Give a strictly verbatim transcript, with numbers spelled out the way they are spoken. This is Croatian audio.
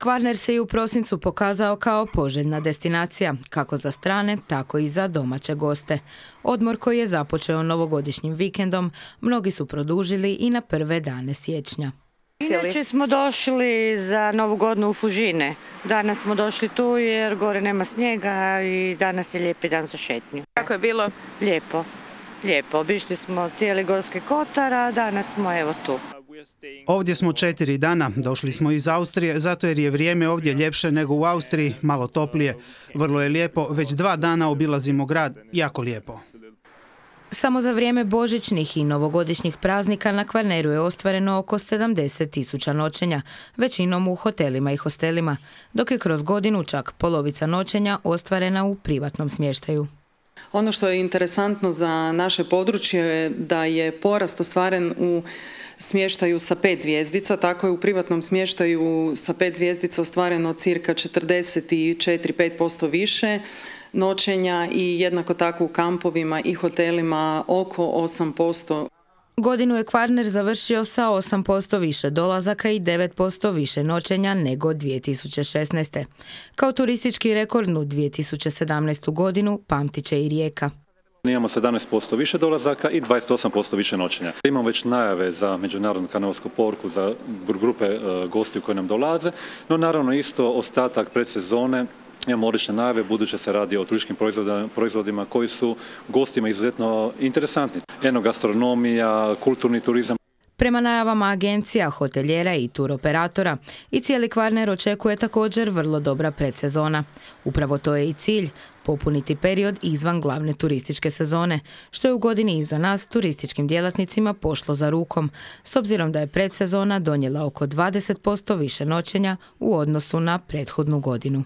Kvarner se i u prosincu pokazao kao poželjna destinacija, kako za strane, tako i za domaće goste. Odmor koji je započeo novogodišnjim vikendom, mnogi su produžili i na prve dane siječnja. Inače smo došli za Novu godinu u Fužine. Danas smo došli tu jer gore nema snijega i danas je lijepi dan za šetnju. Kako je bilo? Lijepo, lijepo. Obišli smo cijeli Gorski kotar, a danas smo evo tu. Ovdje smo četiri dana, došli smo iz Austrije, zato jer je vrijeme ovdje ljepše nego u Austriji, malo toplije. Vrlo je lijepo, već dva dana obilazimo grad, jako lijepo. Samo za vrijeme božićnih i novogodišnjih praznika na Kvarneru je ostvareno oko sedamdeset tisuća noćenja, većinom u hotelima i hostelima, dok je kroz godinu čak polovica noćenja ostvarena u privatnom smještaju. Ono što je interesantno za naše područje je da je porast ostvaren u smještaju sa pet zvjezdica, tako je u privatnom smještaju sa pet zvjezdica ostvareno cirka četrdeset četiri do pet posto više noćenja i jednako tako u kampovima i hotelima oko osam posto. Godinu je Kvarner završio sa osam posto više dolazaka i devet posto više noćenja nego dvije tisuće šesnaeste. Kao turistički rekordnu dvije tisuće sedamnaestu. godinu pamtit će i Rijeka. Imamo sedamnaest posto više dolazaka i dvadeset osam posto više noćenja. Imamo već najave za međunarodnu kanalsku poruku za grupe gostiju koje nam dolaze, no naravno isto ostatak predsezone imamo odlične najave, budući se radi o turističkim proizvodima koji su gostima izuzetno interesantni. Enogastronomija, kulturni turizam. Prema najavama agencija, hoteljera i turoperatora, i cijeli Kvarner očekuje također vrlo dobra predsezona. Upravo to je i cilj, popuniti period izvan glavne turističke sezone, što je u godini iza nas turističkim djelatnicima pošlo za rukom, s obzirom da je predsezona donijela oko dvadeset posto više noćenja u odnosu na prethodnu godinu.